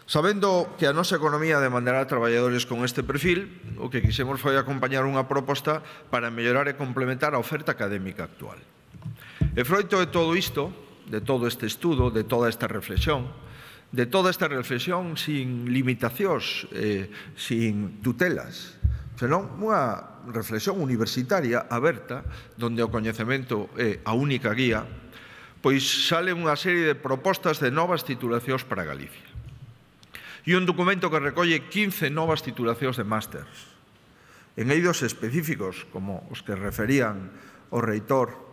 Sabendo que a nosa economía demandará traballadores con este perfil, o que quixemos foi acompañar unha proposta para mellorar e complementar a oferta académica actual. E froito de todo isto, de todo este estudo, de toda esta reflexión sin limitacións, sin tutelas, senón unha reflexión universitaria aberta, donde o coñecemento é a única guía, pois sale unha serie de propostas de novas titulacións para Galicia. E un documento que recolle 15 novas titulacións de másters, en eidos específicos, como os que referían o reitor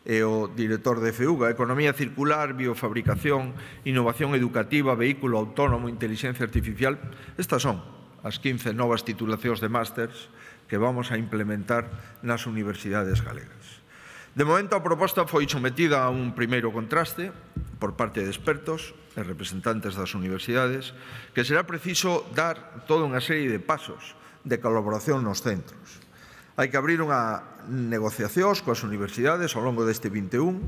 e o director de FEUGA, Economía Circular, Biofabricación, Innovación Educativa, Vehículo Autónomo, Inteligencia Artificial. Estas son as 15 novas titulacións de másters que vamos a implementar nas universidades galegas. De momento, a proposta foi sometida a un primeiro contraste por parte de expertos e representantes das universidades, que será preciso dar toda unha serie de pasos de colaboración nos centros. Hai que abrir unha negociacións coas universidades ao longo deste 21,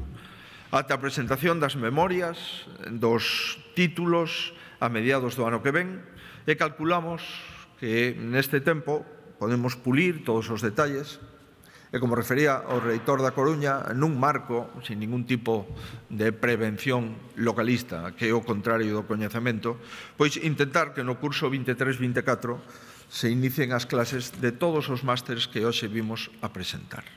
ata a presentación das memorias, dos títulos a mediados do ano que ven, e calculamos que neste tempo podemos pulir todos os detalles e, como refería o reitor da Coruña, nun marco, sin ningún tipo de prevención localista, que é o contrario do coñecemento, pois intentar que no curso 23-24 se inicien as clases de todos os másteres que hoxe vimos a presentar.